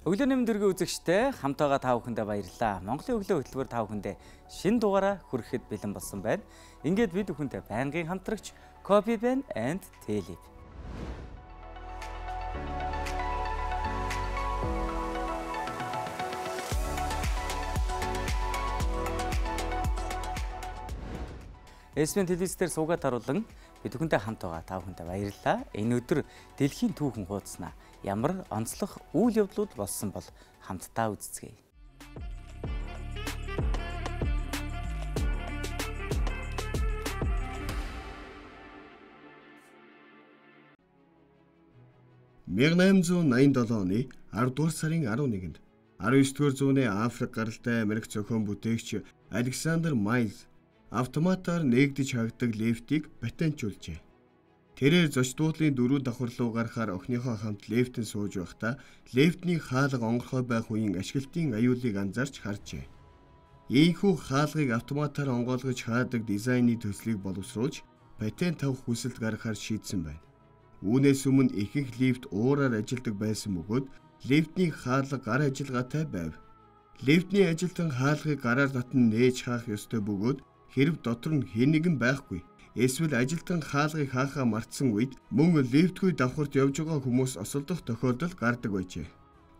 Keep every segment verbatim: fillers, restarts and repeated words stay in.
Өглөөний мэндэргийн үзэгчтэй хамт байгаа та бүхэндээ баярлалаа. Монголын өглөө хөтөлбөр та бүхэндээ шинэ дугаараа хүрэхэд бэлэн болсон байна. Ингээд бид бүхэнтэй байнгын хамтрагч Copy Pen and Tailip. Эсвэн телевизээр суугаад харуулan бид бүхэнтэй хамт байгаа та бүхэндээ баярлалаа. Энэ өдөр дэлхийн түүхэн хуудаснаа ямар онцлог үйл явдлууд болсон бол хамтдаа үзцгээе. мянга найман зуун найман долоо оны аравдугаар сарын арав нэгэнд арав есдүгээр зууны Африк гаралтай Америк зохион бүтээгч Александр Майлз автоматаар нээгдэж хаагдаг лифтийг патентжуулжээ. Тэрээр зоч дуудлын дөрөв давхар руу гарахаар охиныхоо хамт лифтэн сууж байхдаа лифтний хаалга онгорхой байх үеийн ашиглалтын аюулыг анзаарч харжээ. Ийхүү хаалгыг автоматаар онгойлгож хаадаг дизайны төслийг боловсруулж патент авах хүсэлт гаргахаар шийдсэн байна. Үүнээс өмнө ихэнх лифт уураар ажилладаг байсан бөгөөд лифтний хаалга гар ажиллагаатай байв. Лифтний ажилтан хаалгыг гараар татан нээж хаах ёстой бөгөөд хэрв дотор нь хэн нэгэн байхгүй эсвэл ажилтан хаалгыг хаахаа мартсан үед мөн лифтгүй давхарт явж байгаа хүмүүс осолдох тохиолдол гардаг байжээ.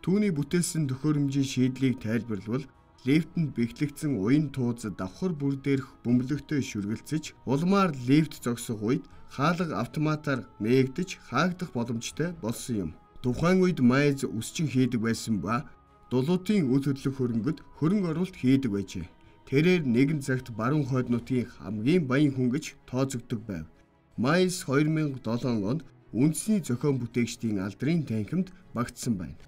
Түүний бүтээсэн төхөөрөмжийн шийдлийг тайлбарлавал лифтэнд бэхлэгдсэн уян тууз давхар бүр дээрх бөмбөлөгтэй шүргэлцэж улмаар лифт зогсох үед хаалга автоматар нээгдэж хаагдах боломжтой болсон юм. Тухайн үед Майлз үсчин хийдэг байсан ба дулуутын үйл хөдлөх хөрөнгөд хөрөнгө оруулалт хийдэг байжээ. Тэрээр нэгэн цагт баруун хойд нутгийн хамгийн баян хүн гэж тооцогддог байв. Майлз хоёр мянга долоо онд үндэсний зохион бүтээгчдийн алдрын танхимд багтсан байна.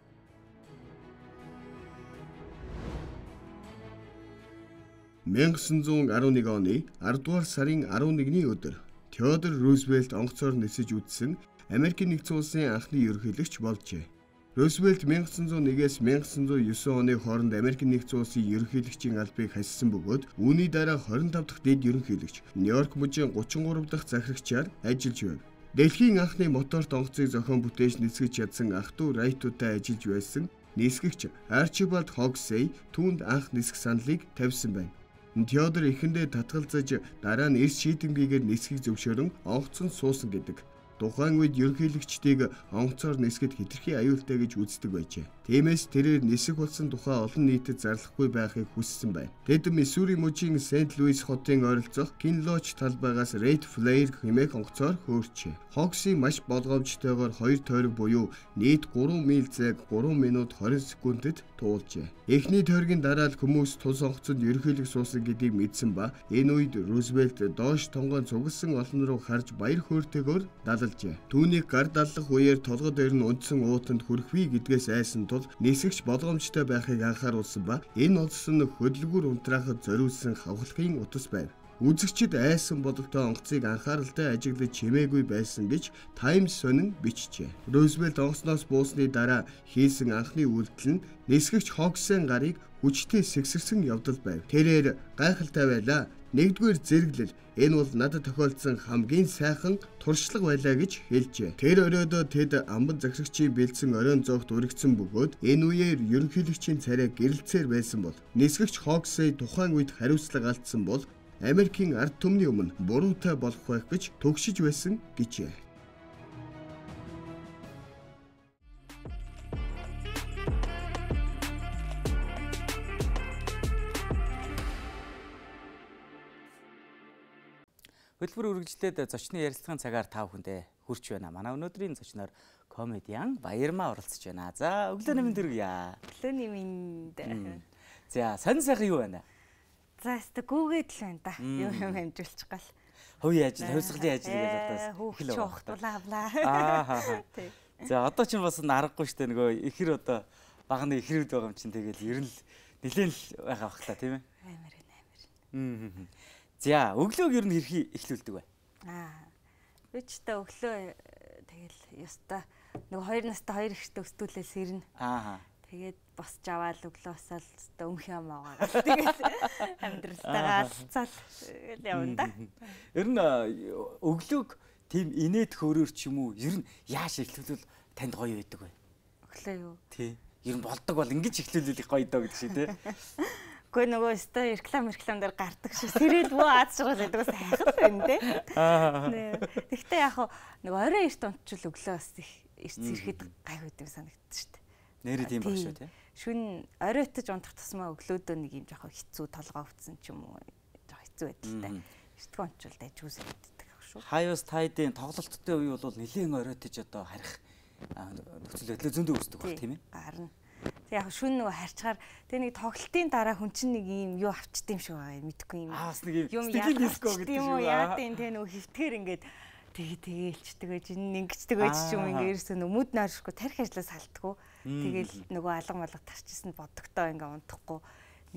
мянга тоғыз жүз арван нэг оны аравдугаар сарын арав нэгний өдөр Теодор Рузвельт онгоцоор нисэж үдсэн Америкийн нэгдсэн улсын анхны ерөнхийлөгч болжээ. Рузвельт мянга тоғыз жүз нэгээс мянга тоғыз жүз девять оны хооронд Америкийн нэгдсэн улсын ерөнхийлөгчийн албыг хассан бөгөөд үүний дараа двадцать пять дахь дэд ерөнхийлөгч Нью-Йорк мужийн гучин гурав дахь захирагчаар ажиллаж байв. Дэлхийн анхны моторт онгоцыг зохион бүтээж нисгэж чадсан ах дүү Райтуудтай ажиллаж байсан нисгэгч Арчибальд Хоксей түүнд анх нисэх саналыг тавьсан байна. Теодор эхэндээ татгалзаж дараа нь эрс шийдэмгийгээр нисхийг зөвшөөрөн онгоцон суусан гэдэг. Тухайн үед ерөнхийлөгчдийг онгоцоор нисгэд хэтэрхий аюултай гэж үздэг байжээ. Тиймээс тэрээр нисэх болсон тухай олон нийтэд зарлахгүй байхыг хүссэн байна. Тэд Миссури мужийн Сент Луис хотын ойролцох Кинлоч талбайгаас Рейд Флэйр хэмээх онгоцоор хөөрчээ. Хокси маш болгоомжтойгоор хоёр тойрог буюу нийт гурван миль зайг гурван минут хорин секундэд туулжээ. Эхний тойргийн дараа л хүмүүс тус онгоцонд ерөнхийлөг суусан гэдгийг мэдсэн ба энэ үед Рузвельт доош тонгоон цугласан олон руу харж баяр хөөртэйгээр далал Түүнийг гар даллах үеэр толгой дээр нь унтсан уутанд хүрэхвээ гэдгээс айсан тул нисгэгч болгоомжтой байхыг анхааруулсан ба энэ улс нь хөдөлгүүр унтраахад зориулсан хавхлагын утас байв. Үзэгчид айсан бодолтой онгоцыг анхааралтай ажиглаж чимээгүй байсан гэж Times сонин бичжээ. Рузвельт онгоцноос буусны дараа хийсэн анхны үйлдэл нь нисгэгч Хоксен гарыг хүчтэй сэгсэрсэн явдал байв. Тэрээр гайхалтай байлаа. Нэгдүгээр зэрэглэл энэ бол надад тохиолдсон хамгийн сайхан туршлага байлаа гэж хэлжээ. Тэр оройдоо тэд амбан захирагчийн бэлдсэн оройн зоогт үргэлжсэн бөгөөд энэ үеэр ерөнхийлөгчийн царай гэрэлцээр байсан бол нисгэгч Хоксей тухайн үед хариуцлага алдсан бол Америкийн ард түмний өмнө буруутай болох байх гэж төгшиж байсан гэжээ. Хөтөлбөр үргэлжлээд зочны ярилцлагын цагаар та бүхэндээ хүрч байна. Манай өнөөдрийн зочноор комедиан Баярмаа оролцож байна. За өглөөний мэнд хүргье. Өглөөний мэнд. За сонь сайхан юу байна? За өстө гүгээд л байна да. Юу юм амжуулчих гал. Хувийн ажил, хувьсгалын ажил гэж одоо хөөхч ухтуулаа авлаа. Аа. За одоо ч бас аргагүй штэ нөгөө ихэр одоо багны ихрүүд байгаа юм чинь тэгэл ер нь нэлээд л байгаа бах та тийм ээ. Амар амар. Аа. За өглөөг ер нь хэрхий эхлүүлдэг бай. Аа. Би ч та өглөө тэгэл ёстой нөгөө хоёр настай хоёр ихтэй өстүүлээ сэрнэ. Аа. Тэгээд босч аваад өглөө босоод өстө өмх юм аагаа. Тэгээд амьдралтайгаа алцаад тэгэл явна да. Ер нь өглөөг тийм инээд хөөрөөр ч юм уу ер нь яаш эхлүүлвэл танд гоё байдаг вэ? Өглөө юу? Тий. ер нь болдог бол ингэж эхлүүлэх гоё доо гэдэг шиг тий. Гэхдээ нөгөө өстой реклам реклам дээр гардаг шүү. Сэрэл бөө аз жаргал гэдэг бас хайхал байна тий. Аа. Тэгтээ яг нөгөө орой эрт унтчул өглөө бас их зэрхэд гай хөдөг санагддаг шүү дээ. Нэрээ тийм баг шүү тий. Шүн оройтож унтах тусмаа өглөөдөө нэг юм жоохон хэцүү толгоо өвдсөн ч юм уу жоохон хэцүү байдалтай. Эртгэн унтчул дайжгүй санагддаг шүү. Хаяус тайдын тоглолттой үе бол нэлээд оройтож одоо харих нөхцөл байдал зөндөө үүсдэг баг тийм ээ. Гарна. Тэг яг шүн нөгөө харьцаар тэг нэг тоглолтын дараа хүн чинь нэг юм юу авчт юм шиг байгаа юм мэдхгүй юм. Аа бас нэг юм стил диско гэдэг юм уу яа тийм тэг нөгөө хөвтгэр ингээд тэгээ тэгэлчдэг чинь ингэчдэг байж ч юм ингээд ерөөсөө нөгөө мүд нойршгүй тарих ажлаас салтгүй. Тэгэл нөгөө алга малга тарчсан бодогтой ингээд унтахгүй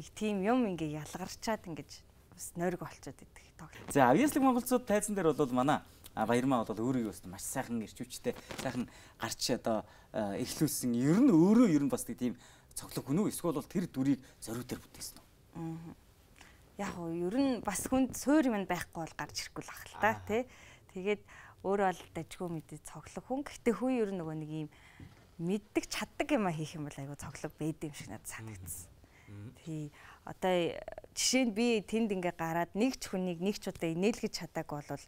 нэг тийм юм ингээд ялгарчаад ингээд бас нойрог болчиход идэг тоглолт. За авьяаслаг монголчууд тайзан дээр бол манай баярмаа бол өөрөө юу маш сайхан ирчүүчтэй сайхан гарч одоо эхлүүлсэн ер нь өөрөө ер нь бас тийм цоглог хүн үү эсвэл бол тэр дүрийг зориуд дээр бүтээсэн үү? Аа. Яг уу ер нь бас хүнд суур юм байхгүй бол гарч ирэхгүй л ах л та тий. Тэгээд өөрөө бол дажгүй мэдээ цоглог хүн. Гэхдээ хүн ер нь нөгөө нэг юм мэддэг чаддаг юм а хийх юм бол айгу цоглог байд юм шиг надад санагдсан. Тий. Одоо жишээ нь би тэнд ингээ гараад нэг ч хүнийг нэг ч удаа инээлгэж чадаагүй бол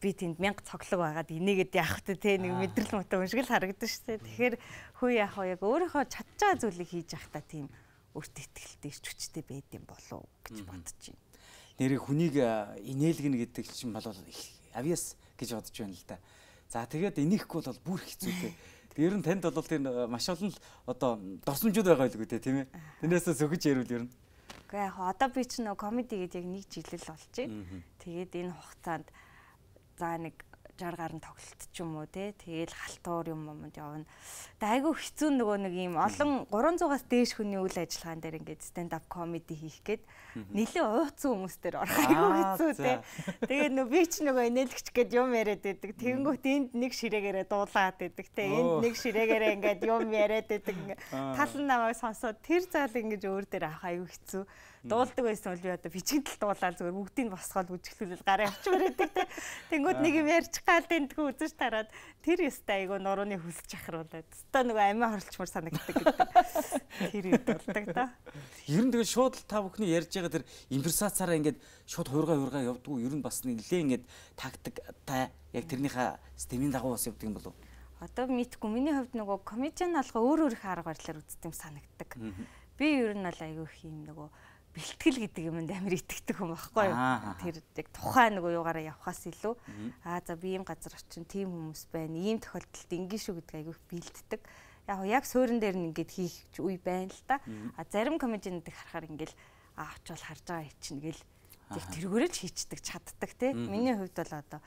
би тэнд мянга цоглог байгаад инээгээд явах та тий нэг мэдрэл мөтө уншиг л харагдаж штэ. Тэгэхээр хүү яах вэ яг өөрийнхөө чадж байгаа зүйлийг хийж явах та тийм өөртөө ихтэй ирч хүчтэй байд юм болов гэж бодож байна. Нэрийг хүнийг инээлгэнэ гэдэг чинь бол авьяас гэж бодож байна л да. За тэгээд инехгүй бол бүр хэцүүтэй. Ер нь танд бол тэр маш олон л одоо дорсомжууд байгаа байлгүй дээ тийм ээ. Тэрнээсээ сөхөж ярил ер нь. Гэхдээ яг одоо би ч нөө комеди гэдэг яг нэг жилэл болж байна. Тэгээд энэ хугацаанд за нэг жаргал гарan тоглолт ч юм уу те тэгэл халтуур юм юмд явна. Тэгээ айгүй хэцүү нөгөө нэг юм олон гурван зугаас дээш хүний үйл ажиллагаан дээр ингээд stand up comedy хийх гээд нэлээ ууцсан хүмүүс дээр орох айгүй хэцүү те. Тэгээд нөгөө би ч нөгөө инээлгч гээд юм яриад байдаг. Тэгэнгүүт энд нэг ширээгээрээ дуулаад байдаг те. Энд нэг ширээгээрээ ингээд юм яриад байдаг. Тал намайг сонсоод тэр заал ингэж өөр дээр авах айгүй хэцүү. Дуулдаг байсан бол би одоо бичигдэл дуулаад зүгээр бүгдийг босгоод үжиглүүлэл гараа авчмаар байдаг те. Тэнгүүд нэг юм ярьчих гал тэнтгүү үзэж тараад тэр ёстой айгу нурууны хүлж ахруулаад. Өстой нөгөө амиа хорлчмар санагддаг гэдэг. Тэр үед болдог да. Ер нь тэгээ шууд та бүхний ярьж байгаа тэр импровизацаараа ингээд шууд хуурга хуурга явдггүй ер нь бас нэлээ ингээд тактик та яг тэрнийхээ системийн дагуу бас явдаг юм болов. Одоо мэдгүй миний хувьд нөгөө комедиан алга өөр өөр их арга барилаар үздэг юм санагддаг. Би ер нь бол айгу их юм нөгөө бэлтгэл гэдэг юмд амар итгэдэг хүн байхгүй юу. Тэр яг тухайн нөгөө юугаараа явхаас илүү аа за би ийм газар очин тийм хүмүүс байна. Ийм тохиолдолд ингэ шүү гэдэг айгүй бэлддэг. Яг яг суурин дээр нь ингээд хийх үе байна л да. А зарим комедиануудыг харахаар ингээл аа очивол харж байгаа чинь гэл яг тэргүүрээ ч хийчдэг чаддаг те. Миний хувьд бол одоо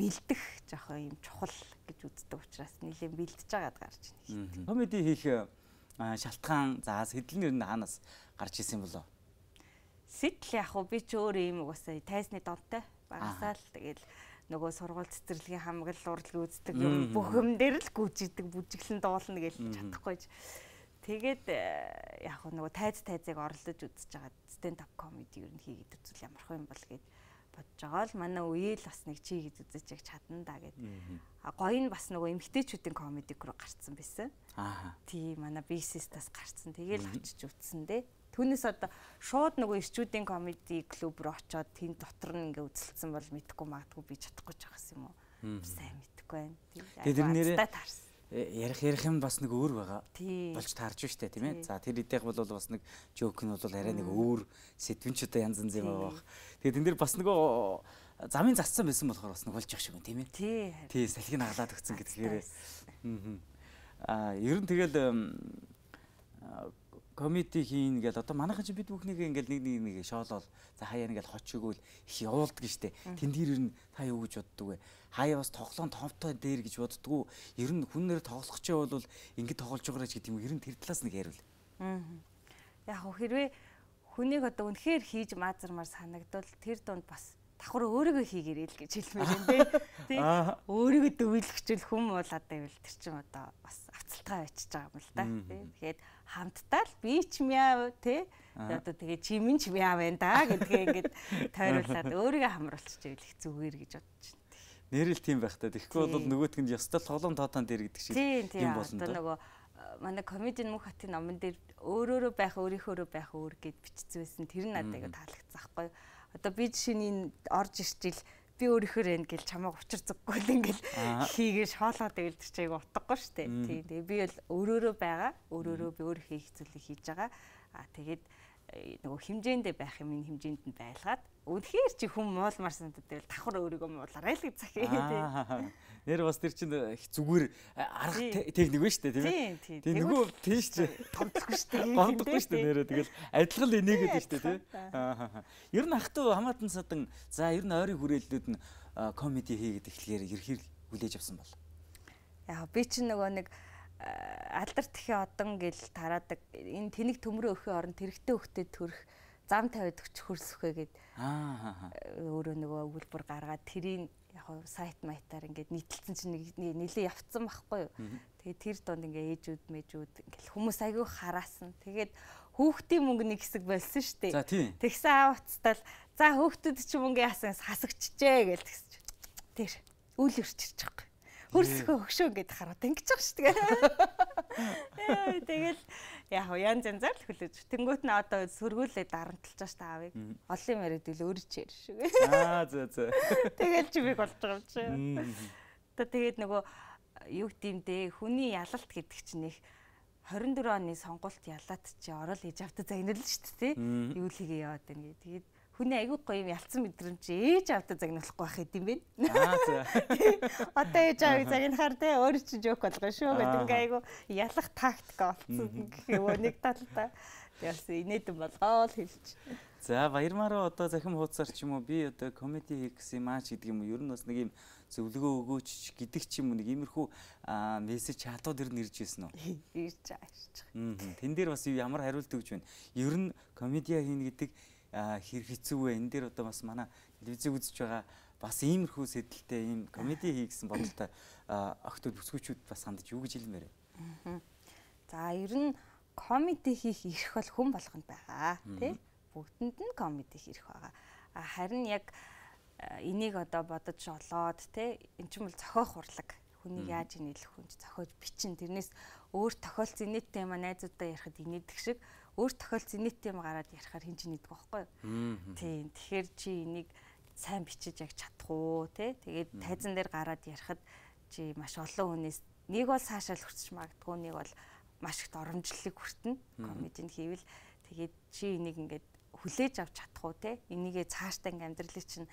бэлдэх жоохон юм чухал гэж үздэг учраас нэлээд бэлдэж байгаад гарч ийн. Комеди хийх шалтгаан за сэтлэн ер нь хаанаас гарч исэн болов? Сэтэл яг уу би ч өөр юм угаасаа тайзны донтой багасаа л тэгэл нөгөө сургууль цэцэрлэгийн хамгаал урлагийн үздэг юм бүх юм дээр л гүйжидэг бүжиглэн дуулна гэж чадахгүйж. Тэгээд яг уу нөгөө тайз тайзыг орлож үзэж байгаа stand up comedy ер нь хийгээд үзвэл ямарх юм бол гэд бодож байгаа л манай үеэл бас нэг чи хийж үзэж яг чадна да гэд. А гоё нь бас нөгөө эмгтээчүүдийн comedy руу гарцсан байсан. Аа. Тий манай бисистаас гарцсан. Тэгээл очиж үзсэн дээ. Түүнээс одоо шууд нөгөө ирчүүдийн комеди клуб руу очиод тэнд дотор нь ингээ үзэлцсэн бол мэдхгүй магадгүй би чадахгүй ч байхс юм уу. Сайн мэдхгүй байна. Тэгээд тэр нэрээ ярих ярих юм бас нэг өөр байгаа. Болж таарч штэ тийм ээ. За тэр идэх бол бас нэг жоок нь бол арай нэг өөр сэдвэн ч удаа янз янз юм байгаа. Тэгээд тэн дээр бас нөгөө замын зассан байсан болохоор бас нэг болж явах шиг юм тийм ээ. Тий. Тий салхийг наглаад өгсөн гэдгээр. Аа ер нь тэгэл комеди хийн гэдэг одоо манайхан чи бид бүхнийг ингээл нэг нэг нэг шоолол за хаяа ингээл хочиггүй их явуулдаг штэ. Тэн дээр нь та юу гэж боддөг вэ? Хаяа бас тоглоом товтой дээр гэж боддгоо. Ер нь хүн нэр тоглох ч бол ингээд тоглож байгаа ч гэдэг юм. Ер нь тэр талаас нэг ярил. Аа. Яг хэрвээ хүнийг одоо үнэхээр хийж маазармаар санагдвал тэр донд бас давхар өөрийгөө хийгэрэй л гэж хэлмээр юм дээ. Тий. Өөрийгөө дөвөлгчл хүм болоод байвал тэр чинь одоо бас авцалтгаа байчихж байгаа юм л да. Тий. Тэгэхээр хамтдаа л би ч мяа тий. Одоо тэгээ чимэн ч мяа байна да гэдгээ ингээд тойруулаад өөрийгөө хамруулчих ивэл их зүгээр гэж бодож байна. Нэрэл тийм байх та. Тэгэхгүй бол нөгөөтг нь ёстой тоглоом тоотон дээр гэдэг шиг юм болно да. Одоо нөгөө манай комедийн мөнх хатын номон дээр өөрөөрөө байх өөрийнхөөрөө байх өөр гэд бичсэн байсан. Тэр нь надад айгу таалагдсан байхгүй. Одоо би жишээний орж ирчихэл би өөрийнхөө энэ гэл чамайг учир зүггүй л ингээл хийгээ шоолоод байвал тэр чинь айгу утгагүй шүү дээ. Тийм. Тэгээ би бол өөрөөрөө байгаа. Өөрөөрөө би өөр хийх зүйлийг хийж байгаа. Аа тэгээд нөгөө хэмжээндээ байх юм ин хэмжээнд нь байлгаад үнэхээр чи хүм муулмар санагддаг л давхар өөрийгөө муулаарай л гэж захий. Нэр бас тэр чинь их зүгээр арга техник байна шүү дээ тийм ээ. Тийм нөгөө тийм шүү дээ. Гомдлохгүй шүү дээ. Гомдлохгүй шүү дээ нэрээ тэгэл адилхан л энийгээд шүү дээ тийм. Ер нь ах トゥ хамаатан садан за ер нь ойрын хүрээллүүд нь комеди хийгээд эхлэхээр ерхийг хүлээж авсан бол. Яа би чинь нөгөө нэг алдар тэхээ одон гэл тараадаг энэ тэнэг төмрөө өхийн оронд тэрэгтэй хөхтэй төрөх зам тавиад өгч хөрсөхөө гэд аа өөрөө нөгөө өгүүлбэр гаргаад тэрийн яг сайт майтаар ингээд нийтэлсэн чинь нэлээ явцсан байхгүй юу. Тэгээд тэр донд ингээ ээжүүд мэжүүд ингээл хүмүүс аягүй хараасан. Тэгээд хүүхдийн мөнгө нэг хэсэг болсон шүү дээ. Тэгсэн аав уцтал за хүүхдүүд чи мөнгө яасан хасагчжээ гэж тэгсэж. Тэр үйл өрчирч байгаа. Хөрсөхөө өгшөө гэд хараад ингэж байгаа шүү дээ. Тэгэл яг янз янзаар л хүлээж. Тэнгүүт нь одоо сөргүүлээ дарамтлаж байгаа шүү дээ аавыг. Олон юм яриад ил өөрөө ч ярьж шүү. Аа зөө зөө. Тэгэл чи бийг болж байгаа юм чи. Одоо тэгээд нөгөө юу гэмдээ хүний ялалт гэдэг чинь их хорин дөрөв оны сонгуульт ялаад чи орол ээж автаа загнал шүү дээ. Юу л хийгээ яваад байна гэ. Тэгээд хүний аягүй гоё юм ялцсан мэдрэмж ээж автаа загнуулахгүй байх юм бэ? Аа за. Одоо ээж авыг загнахаар те өөр чинь жоок болгоо шүү гэдэг ингээ аягүй ялах тактик олцсон гэх юм нэг талдаа. Тэгээс инээдэн болгоо л хэлж. За баярмаараа одоо захим хуудасаар ч юм уу би одоо комеди хийх гэсэн юм аач гэдэг юм уу ер нь бас нэг юм зөвлөгөө өгөөч гэдэг ч юм уу нэг иймэрхүү мессеж чатууд ер нь ирж ирсэн үү? Ирж байгаа. Тэн дээр бас ямар хариулт өгч байна? Ер нь комедиа хийнэ гэдэг хэр хэцүү вэ? Энэ дээр одоо бас манай телевизийг үзэж байгаа бас иймэрхүү сэдэлтэй ийм комеди хий гэсэн бодолтой охтууд бүсгүүчүүд бас хандаж юу гэж хэлмээр вэ? За ер нь комеди хийх эрх бол хүн болгонд байгаа тий? Бүгдэнд нь комеди хийх байгаа. Харин яг энийг одоо бодож олоод тий эн чинь бол зохиох урлаг. Хүнийг яаж нийлэх хүн зохиож бичин тэрнээс өөр тохиолдсон нийт тема найзуудаа ярихад инээдэг шиг өөр тохиолдсон нийт тема гараад ярихаар хин чинь нийдэг байхгүй юу? Тийм. Тэгэхээр чи энийг сайн бичиж яг чадах уу тий? Тэгээд тайзан дээр гараад ярихад чи маш олон хүнээс нэг бол цаашаал хүрч магадгүй нэг бол маш их оромжлолыг хүртэнэ. Комединд хийвэл тэгээд чи энийг ингээд хүлээж авч чадах уу тий? Энийгээ цаашдаа ингээд амьдралыг чинь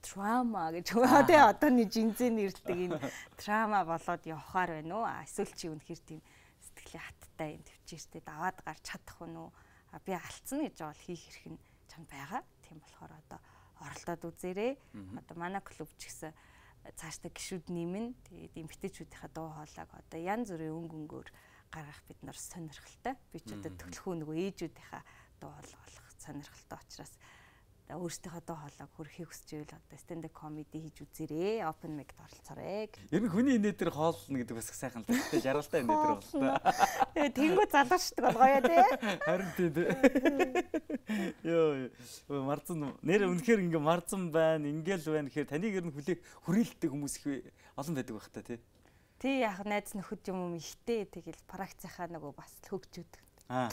трама гэж өгөө тий одооний жинзээ нэрлдэг энэ трама болоод явахаар байна уу? Эсвэл чи үнэхээр тийм сэтгэлийн хаттай юм төвчээртэй даваад гарч чадах уу? А би алдсан гэж бол хийх хэрэг нь чамд байгаа. Тийм болохоор одоо оролдоод үзээрэй. Одоо манай клуб ч гэсэн цаашдаа гişүүд нэмэн тэгээд эмгтээчүүдийнхээ дуу хоолойг одоо янз бүрийн өнгө өнгөөр гаргах бид нар сонирхолтой. Би ч одоо төлхөө нөгөө ээжүүдийнхээ дуу хоолой болох сонирхолтой учраас өөрсдийнхөө дуу хоолойг хөрөхийг хүсэж ивэл одоо stand up comedy хийж үзээрэй. Open mic-д оролцоорой. Ер нь хүний инээ дээр хоолно гэдэг бас сайхан л та жаргалтай инээ дээр боллоо. Тэгээ тэнгүү залуучдаг болгоё тий. Харин тий. Йоо марцсан нэр үнэхээр ингээ марцсан байна, ингээл байна гэхээр таныг ер нь хүлээх хүрээлттэй хүмүүс их олон байдаг байх та тий. Тий яг найз нөхөд юм юм ихтэй тэгэл практикийнхаа нөгөө бас хөгжүүд. Аа.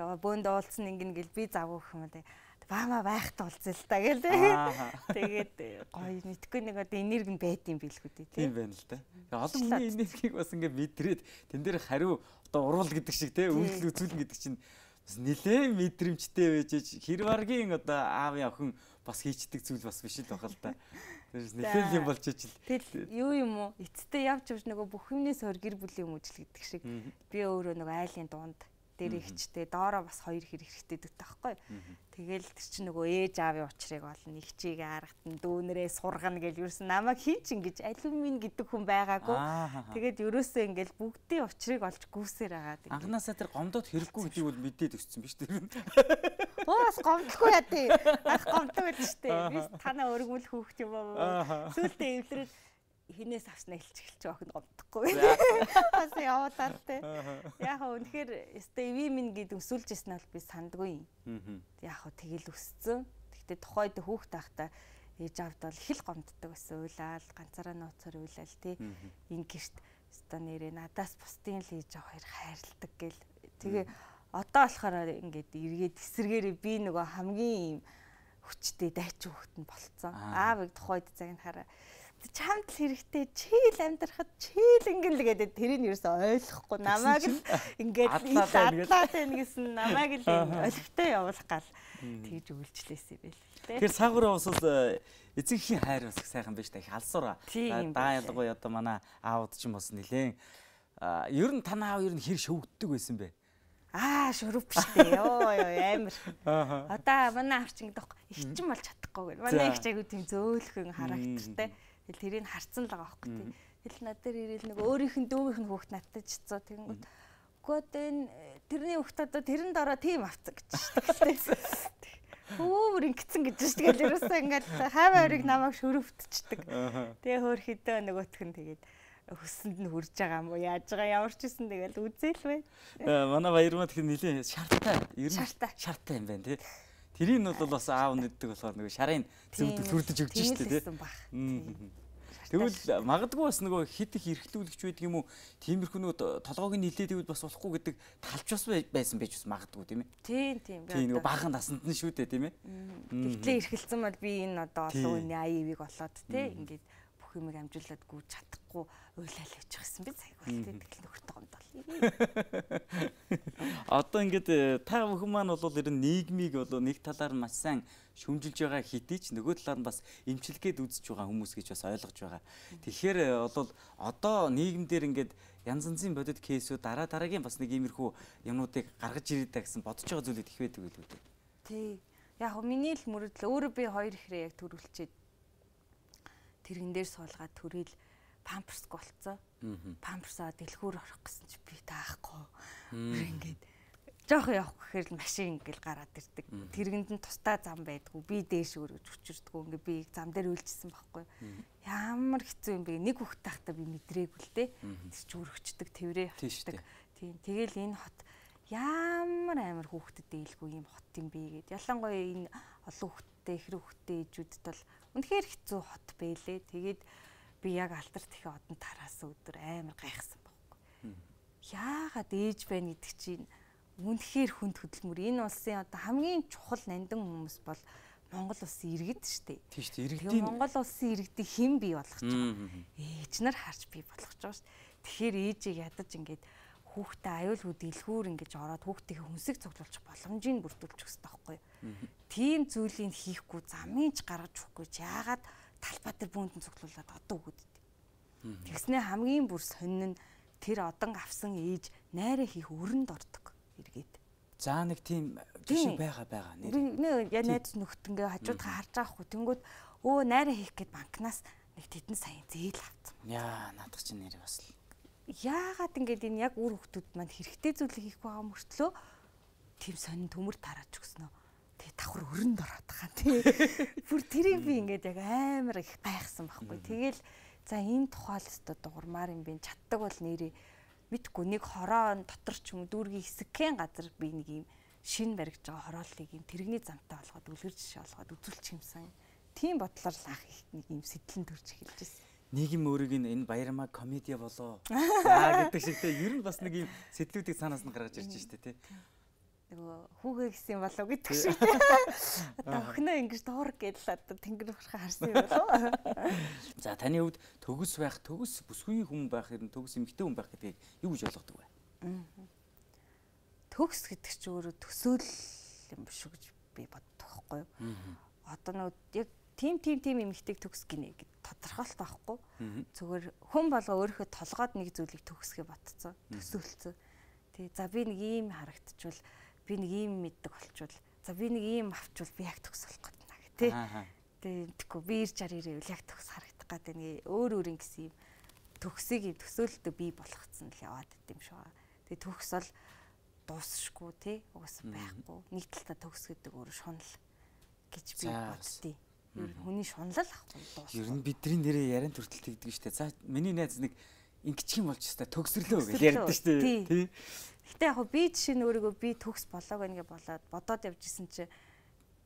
Лөө бөөнд уулцсан ингэн гэл би завгүй юм даа. Баамаа байхтаа уулзъя л та гэл тэгээд гоё мэдгүй нэг одоо энерги нь байд юм билгүй дээ тийм байна л да. Олон хүний энергийг бас ингээ мэдрээд тэн дээр хариу одоо урвал гэдэг шиг те үйлдэл үзүүлнэ гэдэг чинь бас нэлээд мэдрэмжтэй байж хэрваргийн одоо аавын охин бас хийчдэг зүйл бас биш л байгаа л да. Тэрс нэлээд юм болж ичил. Тэгэл юу юм уу эцтэй явж явж нөгөө бүх юмнээс өөр гэр бүлийн хүмүүжил гэдэг шиг би өөрөө нөгөө айлын дунд дээр ихчтэй доороо бас хоёр хэрэг хэрэгтэй дэх таахгүй. Тэгэл тэр чинь нөгөө ээж аавын учрыг олно, их чиг аргатан дүүнэрээ сургана гэж юусэн намайг хин ч ингэж алюмин гэдэг хүн байгаагүй. Тэгээд ерөөсөө ингээл бүгдийн учрыг олж гүйсээр агаад. Анханасаа тэр гомдоод хэрэггүй гэдгийг бол мэдээд өссөн биз тэр. Өөс гомдлохгүй яа тий. Ах гомдог байл штэ. Би танаа өргөмөл хөөхт юм аа. Сүултээ эвлэрэл хинээс авснаа хэлчих хэлчих охин гомдохгүй. Бас яваадаа те. Яг хөө үнэхээр Стеви минь гэд өсүүлж ирсэн бол би сандгүй юм. Яг хөө тэгэл өссөн. Гэхдээ тухайд хүүхд тахта ээж авд бол их л гомддог байсан. Уйлаал ганцаараа нууцаар уйлаал те. Ин гэрт өстой нэрээ надаас бусдын л ээж аваа хоёр хайрладаг гэл. Тэгээ одоо болохоор ингээд эргээд эсэргээрээ би нөгөө хамгийн хүчтэй дайчин хүүхэд нь болцсон. Аавыг тухайд цагт хараа чамд л хэрэгтэй чийл амьдрахад чийл ингэл гэдэг тэрийг юу ч ойлгохгүй намайг л ингээд адлаад байна гэсэн намайг л олигтой явуулах гал тэгж үйлчлээсэй бэл. Тэгэхээр саагуураа бас эцэгхийн хайр бас сайхан байж та их алсуура. Даа ялангуяа одоо манай аауд ч юм бас нилээн ер нь танаа аав ер нь хэр шөвгддөг байсан бэ? Аа шөрөв биштэй ёо ёо амар. Одоо манай авч ингэдэг ихчин болж чадахгүй гэнэ. Манай их чайгуу тийм зөөлхөн характертай. Тэгэл тэрийг харцсан л байгаа байхгүй тий. Тэгэл над дээр ирээл нэг өөрийнх нь дүүмийнх нь хүүхд надтай чицоо тэгэнгүүт үгүй одоо энэ тэрний хүүхд одоо тэрэнд ороо тийм авцсан гэж шүү дээ. Хөөр ингэсэн гэж шүү дээ. Тэгэл ерөөсөө ингээд хаваа өрийг намайг шөрөвтчдэг. Тэгээ хөөр хідээ нөгөөх нь тэгээд хөсөнд нь хурж байгаа юм уу яаж байгаа ямар ч үсэн тэгэл үзээл бай. Манай баярмаа тэгэхээр нилийн шарттай ер нь шарттай юм байна тий. Тэрийг нь бол бас аав нэгдэг болохоор нөгөө шарын зөвдөл хүрдэж өгч штэ тий. Тэгвэл магадгүй бас нөгөө хит их эрхлүүлэгч байдаг юм уу? Тиймэрхүү нөгөө толгойг нилээд ивэл бас болохгүй гэдэг талч бас байсан байж бас магадгүй тийм ээ. Тийм тийм. Тийм нөгөө баахан насанд нь шүү дээ тийм ээ. Тэгтлээ эрхэлсэн бол би энэ одоо олон үний аяавыг олоод тий ингээд бүх юмыг амжуулаад гүйж чадахгүй уйлал явчих гэсэн би цаг бол тий тэгэл нөхөртэй гомдол. Одоо ингээд та бүхэн маань бол ер нь нийгмийг бол нэг талаар маш сайн шүмжилж байгаа хэдий ч нөгөө талаар нь бас эмчилгээд үзэж байгаа хүмүүс гэж бас ойлгож байгаа. Тэгэхээр бол одоо нийгэмдэр ингээд янз янзын бодит кейсүүд дараа дараагийн бас нэг иймэрхүү юмнуудыг гаргаж ирээдэ гэсэн бодож байгаа зүйлүүд их байдаг үү дээ. Тий. Яг хөө миний л мөрөдөл өөрөө би хоёр ихрээ яг төрүүлчихэд тэрэн дээр суулгаад төрөл памперсг болцсон. Памперсаа дэлгүүр орох гэсэн чи би таахгүй. Ингээд жоох явах гэхээр л машин ингээл гараад ирдэг. Тэргэнд нь тустай зам байдгүй. Би дээш өргөж хүчирдэггүй. Ингээ би зам дээр үйлжсэн байхгүй. Ямар хэцүү юм бэ? Нэг хүүхэд тахта би мэдрээгүй л дээ. Тэр ч өргөчдөг, тэврээ хатдаг. Тийм. Тэгэл энэ хот ямар амар хүүхдэд дэйлгүй юм хот юм бэ гэд. Ялангуяа энэ олон хүүхдтэй, ихрэг хүүхдтэй ээжүүдэд бол үнэхээр хэцүү хот байлээ. Тэгээд би яг алдарт их одон тараасан өдөр амар гайхсан байхгүй. Яагаад ээж байна гэдэг чинь үнэхээр хүнд хөдөлмөр. Энэ улсын одоо хамгийн чухал нандин хүмүүс бол Монгол улсын иргэд шүү дээ. Тийм шүү дээ. Иргэдийн Монгол улсын иргэдийг хэн бий болгож байгаа. Ээж нар харж бий болгож байгаа шүү дээ. Тэгэхээр ээжийг ядаж ингээд хүүхдээ аюулгүй дэлгүүр ингэж ороод хүүхдийн хүнсэг цуглуулчих боломжийг бүрдүүлчих хэрэгтэй байхгүй юу? Тийм зүйлийг хийхгүй замынч гаргаж өгөхгүй яагаад талбай дээр бүүндэн цуглуулад одоо өгöd. Тэгснээ хамгийн бүр сонин нь тэр одон авсан ээж найраа хийх өрөнд ордог эргээд. За нэг тийм жишээ байгаа байгаа нэр. Нэг яа найз нөхдөндөө хажуудаа харж байгаа хгүй. Тэнгүүд өө найраа хийх гээд банкнаас нэг тэдэн сая зээл авсан. Яа наадах чинь нэр бас л. Яагаад ингэж энэ яг үр хөвгтүүд маань хэрэгтэй зүйлийг хийх байгаа мөртлөө тийм сонин төмөр тараач өгснөө. Тэгээ давхар өрөнд ороод байгаа тий. Бүр тэрийг би ингэж яг амар их гайхсан байхгүй. Тэгэл за энэ тухайлстай дуурмаар юм би чаддаг бол нэрээ мэдгүй нэг хороо дотор ч юм уу дүүргийн хэсэгхэн газар би нэг юм шин баригж байгаа хорооллыг юм тэрэгний замтай болгоод үлгэр жишээ болгоод үзүүлчих юмсан. Тийм бодлоор л ах их нэг юм сэтлэн төрж эхэлж байсан. Нийгэм өөрийг энэ баярмаа комеди болоо. За гэдэг шиг те ер нь бас нэг юм сэтлүүдийг цаанаас нь гаргаж ирж штэ те. Нөгөө хүүгээ гисэн болов гэдэг шиг. Одоо өхнөө ингэж дуур гэдэл одоо тэнгэр урхаа харсан юм болов. За таны хувьд төгс байх, төгс бүсгүй хүн байх, ер нь төгс эмэгтэй хүн байх гэдгийг юу гэж ойлгодог вэ? Төгс гэдэг чинь өөрөө төсөөл юм биш үү гэж би боддог байхгүй юу? Одоо нөгөө яг тим тим тим эмэгтэйг төгс гинэ гэд тодорхойлт байхгүй. Зүгээр хүн болго өөрийнхөө толгойд нэг зүйлийг төгсгөө ботцсон, төсөөлцсөн. Тэгээ за би нэг ийм харагдчихвал би нэг ийм мэддэг болчвол за би нэг ийм авчвал би яг төгс болох гэдэг наа тий. Тэгээ тэгэхгүй би ирж ар ирэвэл яг төгс харагдах гэдэг нэг өөр өөр ингэсэн юм төгсийг юм төсөөлөлтөө бий болгоцсон л яваад идэм шүү. Тэгээ төгс бол дуусшгүй тий угаасаа байхгүй. Нэг талдаа төгс гэдэг өөр шунал гэж би боддتي. Ер нь хүний шунал ахгүй дуусна. Ер нь бидний нэрээ яриан төртөл тэгдэг штэ. За миний найз нэг ингэчих юм болж штэ төгсрлөө гэж ярьдэн штэ тий. Гэтэ яг би жишээ нь өөрийгөө би төгс болоог ингээ болоод бодоод явжсэн чи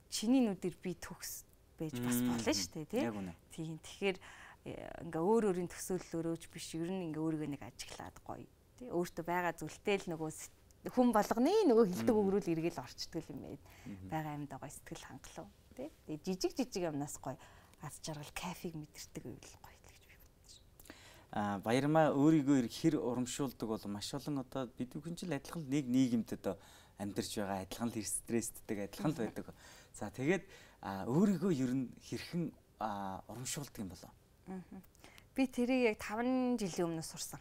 чиний нүдээр би төгс байж бас болно штэ тий. Тийм тэгэхээр ингээ өөр өөрийн төсөөллөөрөөч биш ер нь ингээ өөрийгөө нэг ажиглаад гоё тий өөртөө байгаа зүйлтэй л нөгөө хүн болгоны нөгөө хилдэг өгрүүл эргэл орчдөг юм ээ байгаа юмдаа гоё сэтгэл хангалуун тий тэгээ жижиг жижиг юмнаас гоё аз жаргал кайфыг мэдэрдэг байвал гоё л гэж би бодож байна. А баярмаа өөрийгөө хэр урамшуулдаг бол маш олон одоо бид бүхэн ч адилхан нэг нийгэмд одоо амьдарч байгаа адилхан л стрессддэг адилхан л байдаг. За тэгээд өөрийгөө ер нь хэрхэн урамшуулдаг юм болоо? Би тэрийг яг таван жилийн өмнө сурсан.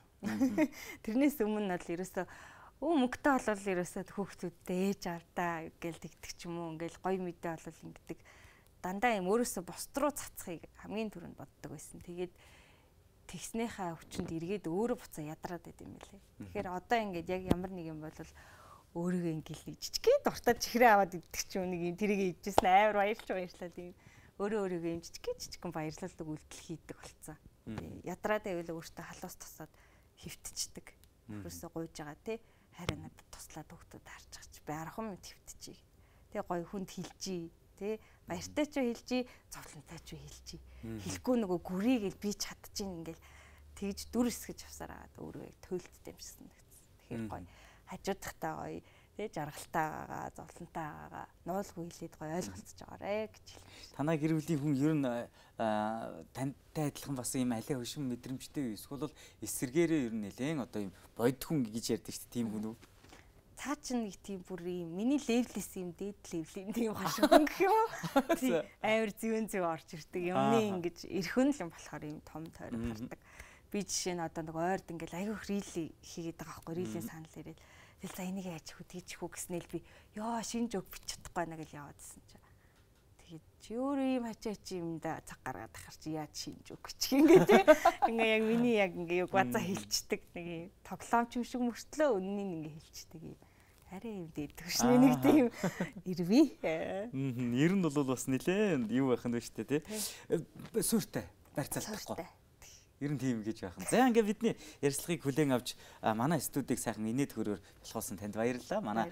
Тэрнээс өмнө бол ерөөсөө өө мөнгөтэй болвол ерөөсөө хүүхдүүдтэй ээж авдаа гэл тэгдэг ч юм уу ингээл гоё мэдээ болвол ингэдэг. Дандаа юм өөрөөсөө бусд руу цацхыг хамгийн түрүүнд боддог байсан. Тэгээд тэгснийхаа хүчинд эргээд өөрөө буцаа ядраад байд юм лээ. Тэгэхээр одоо ингээд яг ямар нэг юм бол өөрийгөө ингээл нэг жижигхэн дуртай чихрээ аваад иддэг ч юм нэг юм тэрийг идчихсэн амар баярлж баярлаад юм. Өөрөө өөрийгөө юм жижигхэн жижигхэн баярлалдаг үйлдэл хийдэг болцсон. Ядраад байвал өөртөө халуус тусаад хөвтчихдэг. Өөрөөсөө гуйж байгаа тий хараа надад туслаад хөвгтөд харж байгаа чи би аргахан мэд хөвтчихье. Тэгээ гоё хүнд хилжий тий баяртай ч хэлжий зовлонтой ч хэлжий. Хэлэхгүй нөгөө гүрийгээл би чадчихин ингээл тэгж дүр эсгэж авсаар агаад өөрөө яг төөлттэй юм шиг санагдсан. Тэгэхээр гоё хажуудахтаа гоё тий жаргалтайгаа зовлонтойгаа нуулгүй хэлээд гоё ойлголцож байгаарэ гэж хэлсэн. Танай гэр бүлийн хүн ер нь тантай адилхан бас юм алей хөшин мэдрэмжтэй эсвэл бол эсэргээрээ ер нь нэлээн одоо юм бодит хүн гэж ярьдаг шүү дээ тийм хүн үү? Цаа ч нэг тийм бүр юм миний левлээс юм дээд левлийн тийм хашигхан гэх юм уу? Тийм амар зүүн зүү орж ирдэг юмны ингэж эрхэн л юм болохоор юм том тойрог хардаг. Би жишээ нь одоо нэг ойрд ингээл аягүй рили хийгээд байгаа байхгүй рилийн санал ирээд тэгэл за энийг яаж хүү тийч хүү гэснээр би ёо шинж өг бич чадахгүй наа гэж яваадсэн чи. Тэгээд чи өөрөө юм хачаа чи юмда цаг гаргаад ахаар чи яаж шинж өг гэж ингээ тий. Ингээ яг миний яг ингээ яг базаа хилчдэг нэг юм тоглоомч юм шиг мөртлөө өннийг ингээ хилчдэг юм. Арай юм дээдэг шнэ нэг тийм ирвэ. Мм ер нь бол бас нилээн юу байх нь вэ штэ тий. Сүртэй барьцаалахгүй. Ер нь тийм гэж байх. За ингээ бидний ярилцлагыг хүлээн авч манай студийг сайхан инээд хөрөөр болохоос танд баярлалаа. Манай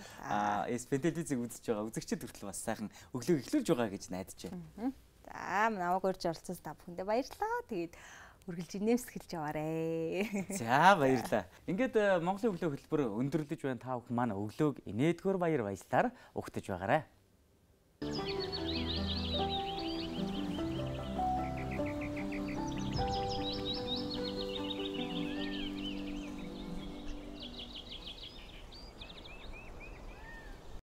эс-пи телевизийг үзэж байгаа үзэгчид хүртэл бас сайхан өглөөг эхлүүлж байгаа гэж найдаж байна. За намайг урьж оролцсон та бүхэндээ баярлалаа. Тэгээд үргэлж нэмсгэлж яваарэ. За баярлалаа. Ингээд Монголын өглөө хөтөлбөр өндөрлөж байна та бүхэн манай өглөөг инээдгөр баяр баясгалаар угтаж байгаарай.